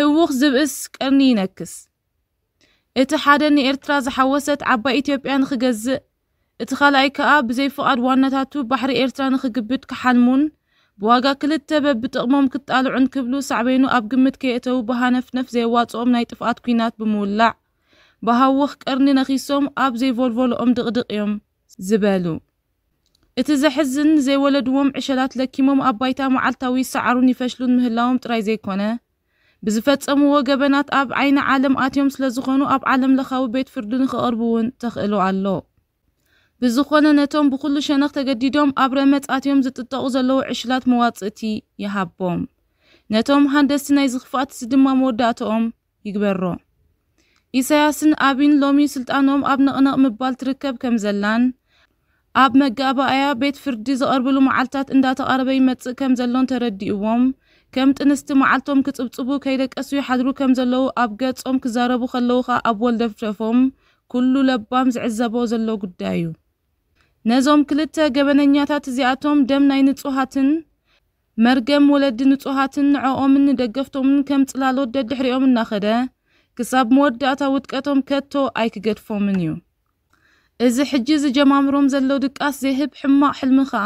ህውኽ ዝብእስ ቀርኒ ይነክስ። እቲ ሓደ ንኤርትራ ዝሓወሰት ዓባይ ኢትዮጵያ ንኽገዝእ፣ እቲ ካልኣይ ከኣ ብዘይ ፍቓድ ዋናታቱ ባሕሪ ኤርትራ ንኽግብድ ክሓልሙን ብዋጋ ክልተ በብጥቕሞም ክጣልዑን ክብሉ ሳዕቤኑ ኣብ ግምት ከየእተዉ ብሃነፍነፍ ዘየዋጽኦም ናይ ጥፍኣት ኲናት ብምውላዕ፣ ብሃውኽ ቀርኒ ነኺሶም ኣብ ዘይቮልቮልኦም ድቕድቕ እዮም ዝበሉ። እቲ ዘሕዝን፣ ዘይወለድዎም ዕሸላት ለኪሞም ኣብ ባይታ መዓልታዊ ይሰዓሩን ይፈሽሉን ምህላዎም ጥራይ ዘይኮነ፣ ብዝፈጸምዎ ገበናት ኣብ ዓይኒ ዓለም ኣትዮም ስለ ዝኾኑ ኣብ ዓለም ለኻዊ ቤት ፍርዲ ንኽቐርቡ እውን ተኽእሎ ኣሎ። ብዝኾነ ነቶም ብኹሉ ሸነኽ ተገዲዶም ኣብ ረመጽ ኣትዮም ዝጥጠቑ ዘለዉ ዕሽላት መዋጽእቲ ይሃቦም። ነቶም ሃንደስቲ ናይዚ ክፍኣትሲ ድማ መወዳእትኦም ይግበሮ። ኢሳያስን ኣቢን ሎሚ ስልጣኖም ኣብ ነቕነቕ ምባል ትርከብ ከም ዘላን ኣብ መጋባእያ ቤት ፍርዲ ዝቐርብሉ መዓልታት እንዳተቓረበ ይመጽእ ከም ዘሎን ተረዲእዎም ከም ጥንስቲ መዓልቶም ክጽብጽቡ ከይደቀሱ ይሓድሩ ከም ዘለዉ ኣብ ገጾም ክዛረቡ ከለዉ ኸኣ ኣብ ወልደፍደፎም ኩሉ ለባም ዝዕዘቦ ዘሎ ጉዳይ እዩ። ነዞም ክልተ ገበነኛታት እዚኣቶም ደም ናይ ንጹሃትን መርገም ወለዲ ንጹሃትን ንዕኦምን ንደገፍቶምን ከም ጽላሎት ደድሕሪኦም እናኸደ ክሳብ መወዳእታ ውድቀቶም ከቶ ኣይክገድፎምን እዩ። እዚ ሕጂ ዝጀማምሮም ዘሎ ድቃስ ዘይህብ ሕማቕ ሕልሚ ኸኣ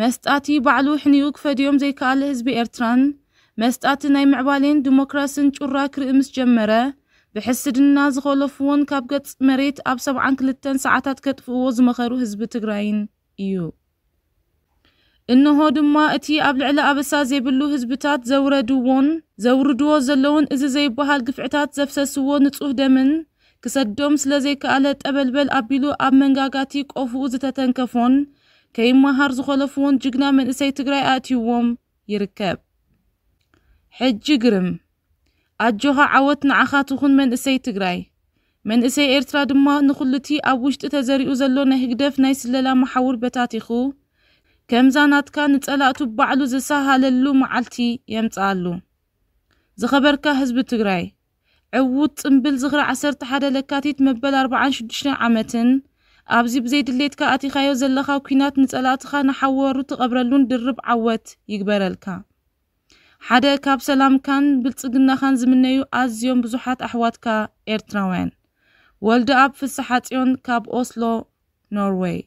መስጣቲ ባዕሉ ሕኒኡ ክፈድዮም ዘይከኣለ ህዝቢ ኤርትራን መስጣቲ ናይ ምዕባሌን ዲሞክራስን ጩራ ክርኢ ምስ ጀመረ ብሕስድና ዝኾለፍዎን ካብ ገጽ መሬት ኣብ ሰብዓን ክልተን ሰዓታት ከጥፍእዎ ዝመኸሩ ህዝቢ ትግራይን እዩ። እንሆ ድማ እቲ ኣብ ልዕሊ ኣበሳ ዘይብሉ ህዝብታት ዘውረድዎን ዘውርድዎ ዘለውን እዚ ዘይበሃል ግፍዕታት ዘፍሰስዎ ንጹህ ደምን ክሰዶም ስለ ዘይከኣለ ጠበልበል ኣቢሉ ኣብ መንጋጋቲ ቆፍኡ ዝተተንከፎን ከይመሃር ዝኾለፍዎን ጅግና መንእሰይ ትግራይ ኣእትይዎም ይርከብ። ሕጂ ግርም ኣጆኻ ዓወት ንዓኻ ትኹን መንእሰይ ትግራይ። መንእሰይ ኤርትራ ድማ ንኹሉቲ ኣብ ውሽጢ ተዘሪኡ ዘሎ ናይ ህግደፍ ናይ ስለላ መሓውር በታቲኹ ከምዛ ናትካ ንጸላእቱ ባዕሉ ዝሰሃለሉ መዓልቲ የምጽኣሉ። ዝኸበርካ ህዝቢ ትግራይ፣ ዕዉት ጽምብል ዝኽሪ ዓሰርተ ሓደ ለካቲት መበል ኣርባዓን ሽዱሽተን ዓመትን ኣብዚ ብዘይ ድሌትካ ኣቲኻዮ ዘለኻ ኲናት ንጸላእትኻ ንሓወሩ ትቐብረሉን ድርብ ዓወት ይግበረልካ። ሓደ ካብ ሰላምካን ብልጽግናኻን ዝምነዩ ኣዝዮም ብዙሓት ኣሕዋትካ ኤርትራውያን። ወልደኣብ ፍስሓጽዮን ካብ ኦስሎ ኖርወይ።